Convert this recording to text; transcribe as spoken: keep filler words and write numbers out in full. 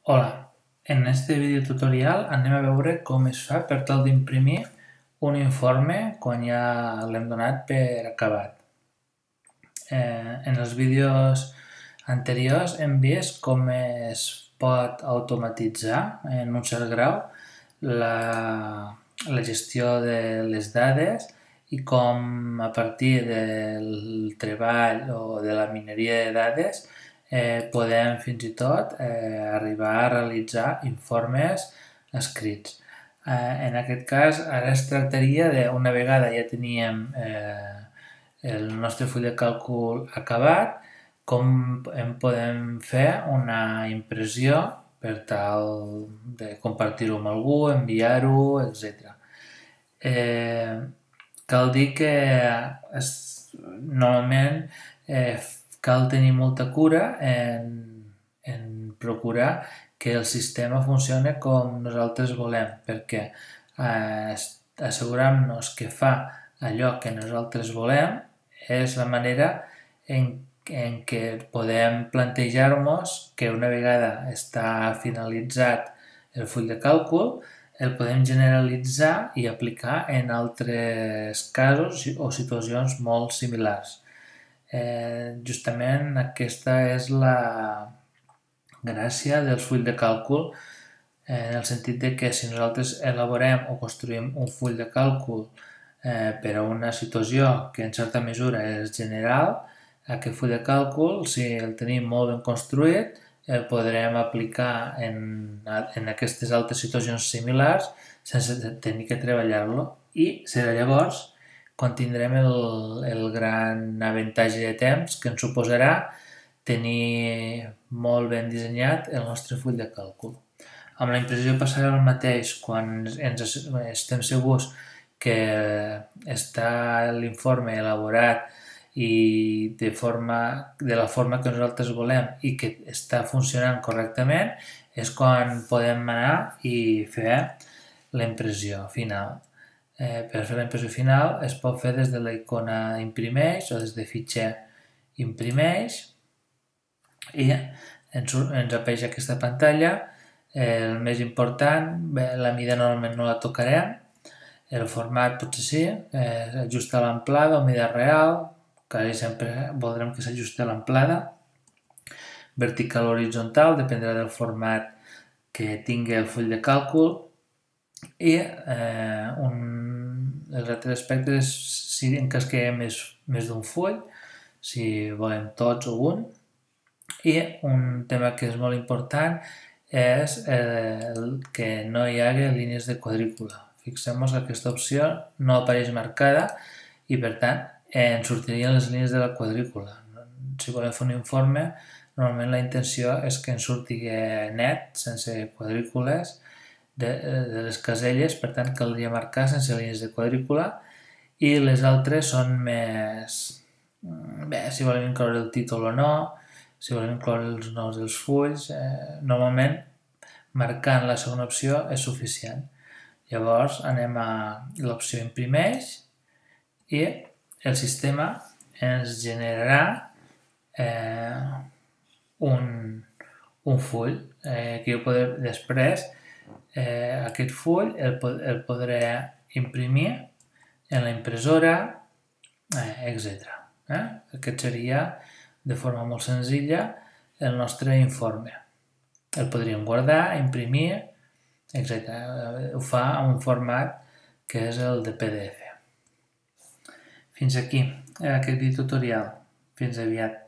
Hola, en este vídeo tutorial anem a veure com es fa per tal d'imprimir un informe quan ja l'hem donat per acabat. Eh, en els vídeos anteriors hem vist com es pot automatitzar en un cert grau la, la gestió de les dades i com a partir del treball o de la mineria de dades eh, podem fins i tot eh, arribar a realitzar informes escrits. Eh, en aquest cas, ara es tractaria de, una vegada ja teníem eh, el nostre full de càlcul acabat, com en podem fer una impressió per tal de compartir-ho amb algú, enviar-ho, etcètera. Eh, cal dir que es, normalment eh, cal tenir molta cura en, en procurar que el sistema funcioni com nosaltres volem, perquè eh, assegurar-nos que fa allò que nosaltres volem és la manera en, en què podem plantejar-nos que una vegada està finalitzat el full de càlcul el podem generalitzar i aplicar en altres casos o situacions molt similars. Eh, justament aquesta és la gràcia del full de càlcul, en el sentit de que si nosaltres elaborem o construïm un full de càlcul eh, per a una situació que en certa mesura és general, aquest full de càlcul, si el tenim molt ben construït, el podrem aplicar en, en aquestes altres situacions similars sense tenir que treballar-lo, i serà llavors quan tindrem el, el gran avantatge de temps que ens suposarà tenir molt ben dissenyat el nostre full de càlcul. Amb la impressió passarà el mateix quan ens estem segurs que està l'informe elaborat i de, forma, de la forma que nosaltres volem i que està funcionant correctament, és quan podem anar i fer la impressió final. Eh, per fer la impressió final es pot fer des de la icona imprimeix o des de fitxer imprimeix i ens, ens apareix aquesta pantalla. Eh, el més important, bé, la mida normalment no la tocarem, el format potser sí, eh, ajustar l'amplada o mida real, quasi sempre voldrem que s'ajusti a l'amplada, vertical o horitzontal, dependrà del format que tingui el full de càlcul, i eh, un, els altres aspectes és si en cas que hi ha més, més d'un full, si volem tots o un, i un tema que és molt important és eh, que no hi hagi línies de quadrícula. Fixem-nos que aquesta opció no apareix marcada i per tant eh, ens sortirien les línies de la quadrícula. Si volem fer un informe, normalment la intenció és que ens surti net, sense quadrícules, de, de les caselles, per tant caldria marcar sense línies de quadrícula, i les altres són més... bé, si volem incloure el títol o no, si volem incloure els noms dels fulls, eh, normalment marcant la segona opció és suficient. Llavors anem a l'opció imprimeix i el sistema ens generarà eh, un, un full eh, que jo podré després eh, aquest full el, el podré imprimir en la impressora, eh, etcètera. Eh? Aquest seria de forma molt senzilla el nostre informe. El podríem guardar, imprimir, etcètera. Ho fa en un format que és el de P D F. Fins aquí aquest video tutorial. Fins aviat.